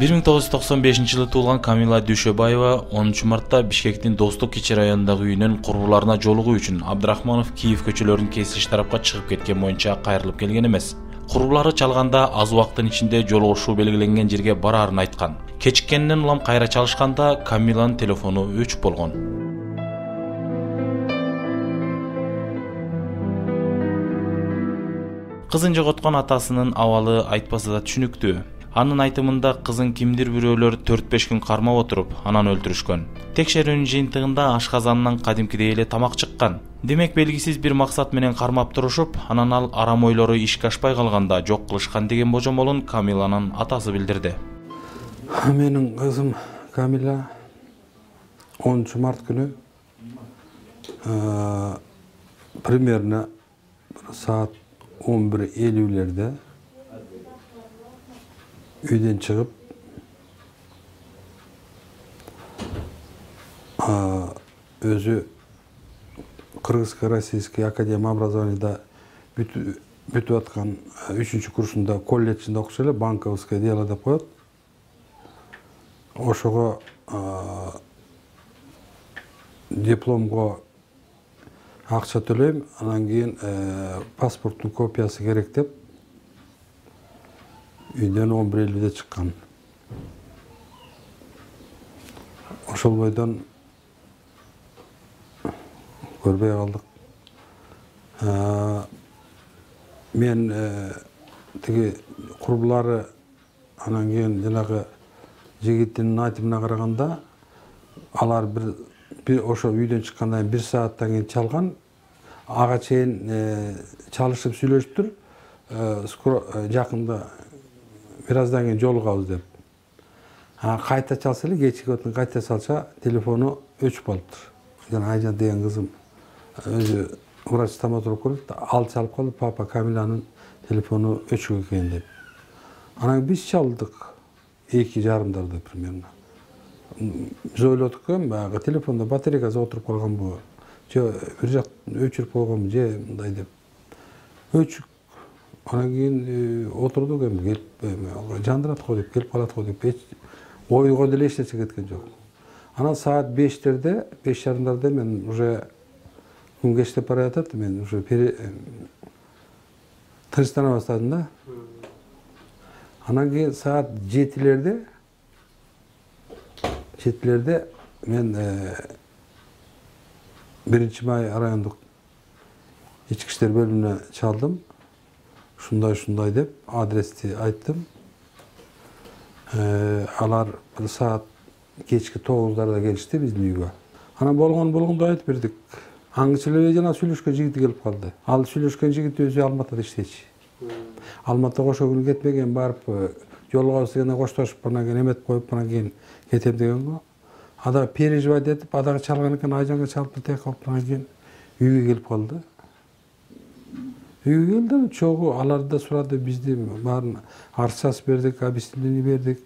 1995-жылы туулган Камила Дүйшөбаева 10 мартта Бишкектин Достук кичи районундагы үйүнөн курбуларына жолугуу үчүн Абдрахманов Киев көчөлөрүнүн кесилиш тарапка чыгып кеткен боюнча кайрылып келген эмес. Курбулары чалганда аз убакыттын ичинде жолугушуу белгиленген жерге бараарын айткан. Кечиккенден улам кайра чалышканда Камиланын телефону өчүп болгон. Кызын жоготкон атасынын абалы айтпаса да түшүнүктүү. Анын айтымында кызын кимдир бирөөлөр 4-5 күн кармап отуруп, анан өлтүрүшкөн. Текшерүүнүн жыйынтыгында ашказанынан кадимкидей эле тамак чыккан. Демек белгисиз бир максат менен кармап турушуп, анан ал арам ойлору ишке ашпай калганда жок кылышкан деген божомолун Камиланын атасы билдирди. Менин кызым Камила 10 март күнү примерно саат 11:50 үйден чыгып, өзү Кыргызско-Российский академия образованияда бүтүп аткан 3-курсунда колледжинде окуса эле, банковское дело деп коет. Ошого дипломго акча төлөйм, анан кийин паспорттун копиясы керек деп үйдөн 11:50 чыккан. Ошол бойдон көрбөй калдык. Мен тиги курбулары анан кийин жанагы жигиттин айтымына караганда, алар бир ошо үйдөн чыккандан 1 сааттан кийин чалган. Ага чейин чалышып сүйлөшүптүр. Жакында бир аздан кийин жолугабыз деп. Кайта чалса эле, кечки отун кайта чалса, телефону өчүп калыптыр. Жана Айжан деген кызым өзү врач-стоматолог көрөт, ал чалып калды, папа Камиланын телефону өчүк экен деп. Анан биз чалдык 2:30 примерно. Биз ойлодук, баягы телефондо батарейкасы отуруп калганбы, же бир жак өчүрүп койгонбу, же мындай деп. Өчүк. Анан кийин отурдук, эми келип жандырат го деп, келип калат го деп, ойго деле эч нерсе кеткен жок. Анан саат 5:30 мен уже күн кечтеп бара жатат, мен уже тынчтана баштадым да. Анан кийин саат 7:00 мен 1-Май райондук ички иштер бөлүмүнө чалдым. Ушундай деп адрести айттым. Алар бир саат кечки 9:00 келишти биздин үйгө. Анан болгондой айтып бердик. Аңчы эле жана сүйлөшкөн жигити келип калды. Ал сүйлөшкөн жигит өзү Алматыда иштечи. Алматыга ошол күнү кетпеген, барып жолугабыз дегенде коштошуп, анан кийин эметип коюп, анан кийин кетем деген го. Ада переживать этип, адага чалган экен, Айжанга чалып тек калып, анан кийин үйгө келип калды. Үйгө келди, чогуу аларды да сурады, бизди баарын арчасы бердик, объяснение бердик.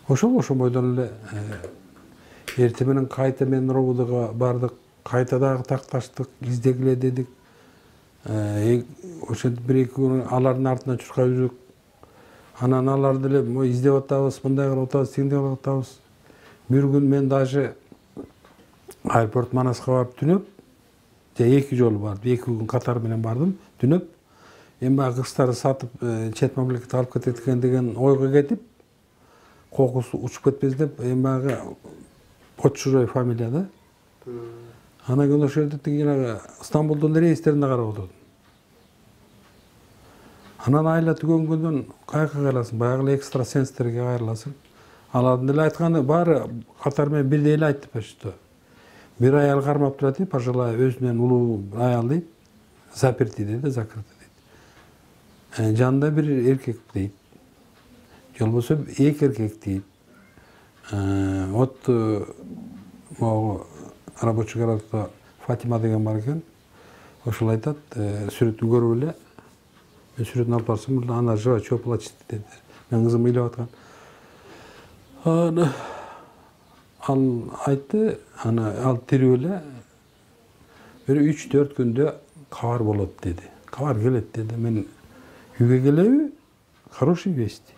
Ошол бойдон эле эртең менен кайта мен робудага бардык, кайта дагы такташтык, издегиле дедик. Ошентип 1-2 күн алардын артынан чуркап жүрдүк. Анан алар деле издеп атабыз, мындай кылып атабыз, тигиндей кылып атабыз. Бир күн мен даже аэропорт Манаска барып түнөп, 2 жолу бардым, 2 күн катар менен бардым, түнөп. Эми баягы кыздарды сатып чет мамлекетке алып кетет экен деген ойго кетип, кокусу учуп кетпес деп, эми баягы Почурой фамилия да. Анан кийин ошол жерде тиги Стамбулдун рейстерине карап отурдум. Анан айла түгөнгөндөн каяка кайрыласың, баягы эле экстрасенстерге кайрыласың. Алардын деле айтканы баары катар менен бирдей эле айтты почто. Бир аял кармап турат дейт, пожилая өзүнөн улуу аял дейт, заперти дейт, закрыты дейт. Жанында бир эркек дейт. Же болбосо 2 эркек дейт. Вот могу рабочий городко Фатима деген бар экен. Ошол айтат, сүрөтүн көрүп эле. Мен сүрөтүн алып барсам, ана жыва чөп плачет деди. Мен кызым ыйлап аткан. Ал айтты, ал тирүү эле бир 3-4 күндө кабар болот деди. Кабар келет деди. Мен үйгө келеби? Хороший вести.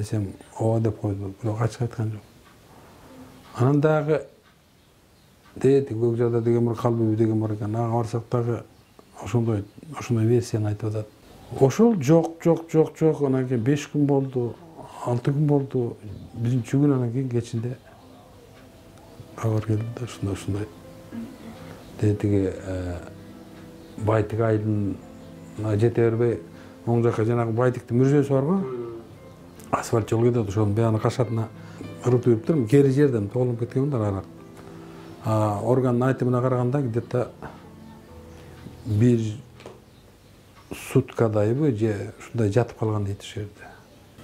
десем ооба деп койду, бирок ачык айткан жок. Анан дагы көк жада деген бар, калбыбы деген бар экен. Ага барсак дагы ошондой версияны айтып атат. Ошол жок. Анан кийин 5 күн болду, 6 күн болду. Биринчи күн анан кийин кечинде кабар келди да ушундай. Тиги Байтик айылын жете бербей, оң жакка жанагы Байтиктин мүрзөсү барбы? Асфальт жол кетет, ошонун баягы кашатына ырып туруптур. Кери жерден тоолонуп кеткенмин арак. Органдын айтымына караганда где-то 1 суткадайбы же ушундай жатып калган дейт ошол жерде.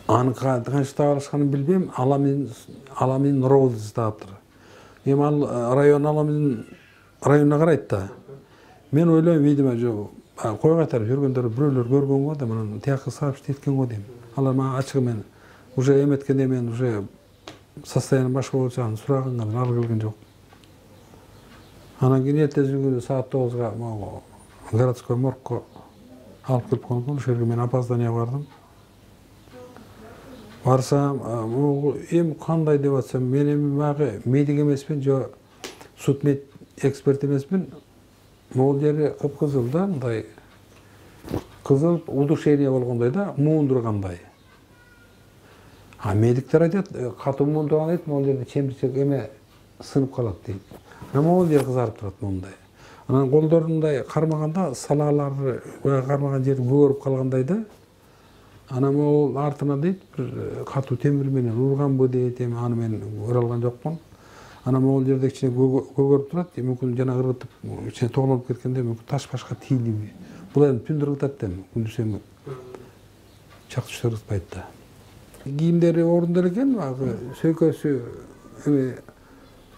Аны кантип таап алышканын билбейм. Аламин ровд таптыр. Эми ал район районуна карайт да. Мен ойлойм, видимо, кой кайтарып жүргөндөр бирөөлөр көргөн го да, мына тияка сообщить эткен го дейм. Алар мага ачык мен уже эметкенде мен уже состояние башка болчу, аны сураганга ал келген жок. Анан кийин эртеси күнү саат 9-га могу городской моргко алып келип койгон. Ошол жерге мен опоздание бардым. Барсам, эми кандай деп атсам, мен эми баягы медик эмесмин, же судмед эксперт эмесмин. Могул жери кып-кызыл да, мындай кызыл удушение болгондой да, муундургандай. Медиктер айтат, катуу муундурган дейт, могул жерде чемирчек эме сынып калат дейт. Могул жер кызарып турат мондай. Анан колдорундай кармаганда салалары кармаган жери көгөрүп калгандай да. Анан могул артына дейт, бир катуу темир менен урганбы дейт, эми аны мен көрө алган жокмун. Анан могул жерде кичине көгөрүп турат, мүмкүн жана ыргытып, кичине тоолонуп кеткенде мүмкүн таш-башка тийилиби. Бул эми түндүр ыргытат да, күндүз эми чак түштөр ыргытпайт да. Кийимдери орунда экен, баягы сөйкөсү, эми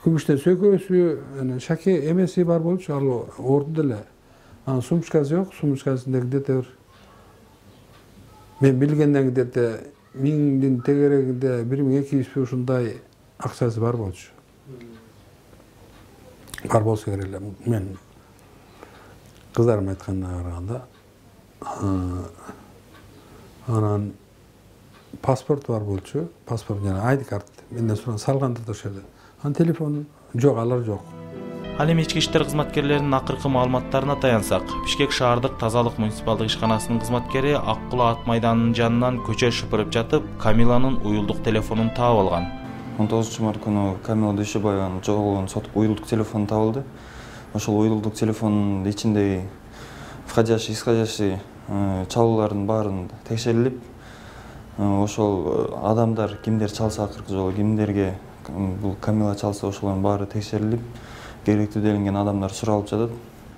күмүштөн сөйкөсү, анан шаке эмеси бар болчу, ал орунда эле. Анан сумочкасы жок, сумочкасында где-то мен билгенден где-то 1000 тегерегинде 1200 ушундай акчасы бар болчу. Бар болсо керек эле. Мен кыздарым айтканына караганда, анан паспорт бар болчу, паспорт жана ID карт. Менден сураган салгандыр да ошол жерде. Анан телефон жок, алар жок. Ал эми ички иштер кызматкерлеринин акыркы маалыматтарына таянсак, Бишкек шаардык тазалык муниципалдык ишканасынын кызматкери Ак Кула ат майданынын жанынан көчө шыпырып жатып, Камиланын уюлдук телефонун таап алган. 19 күнү Камила Дүйшөбаеванын жоголгон уюлдук телефону табылды. Ошол уюлдук телефонун ичиндеги входящий, исходящий чалуулардын баарын текшерилип, ошол адамдар кимдер чалса акыркы жолу, кимдерге бул Камила чалса ошолордун баары текшерилип, керектүү делинген адамдар суралып жатат.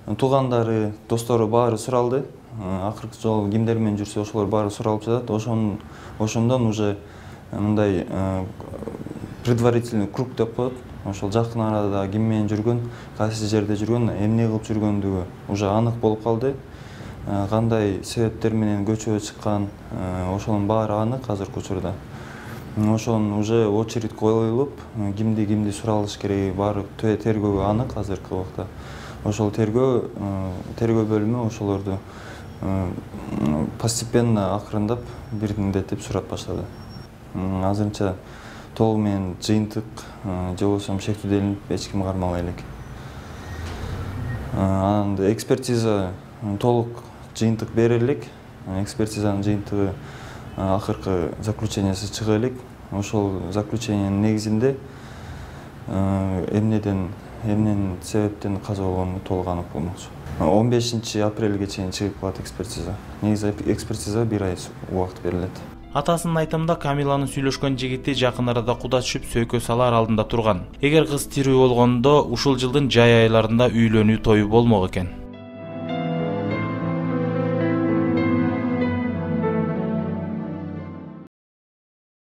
Туугандары, достору баары суралды. Акыркы жолу кимдер менен жүрсө ошолор баары суралып жатат. Ошондон уже мындай предварительный круг деп коет. Ошол жакын арада ким менен жүргөн, кайсы жерде жүргөн, эмне кылып жүргөндүгү уже анык болуп калды. Кандай себептер менен көчөгө чыккан, ошонун баары анык азыркы учурда. Ошонун уже очередь коюлуп, кимди суралыш кереги баары тергөөгө анык азыркы убакта. Ошол тергөө бөлүмү ошолорду постепенно акырындап бирдиктеп сурап баштады. Азырынча толугу менен жыйынтык же болбосо шектүү делинип эч ким кармалбай элек. Анан экспертиза толук жыйынтык берилик. Экспертизанын жыйынтыгы акыркы заключениясы чыга элек. Ошол заключениянын негизинде эмненин себептен каза болгону толук анык болмокчу. 15 апрелге чейин чыгып калат экспертиза. Негизи экспертизага 1 ай убакыт берилет. Атасынын айтымында Камиланын сүйлөшкөн жигити жакын арада куда түшүп сөйкө салар алдында турган. Эгер кыз тирүү болгондо ушул жылдын жай айларында үйлөнүү тою болмок экен.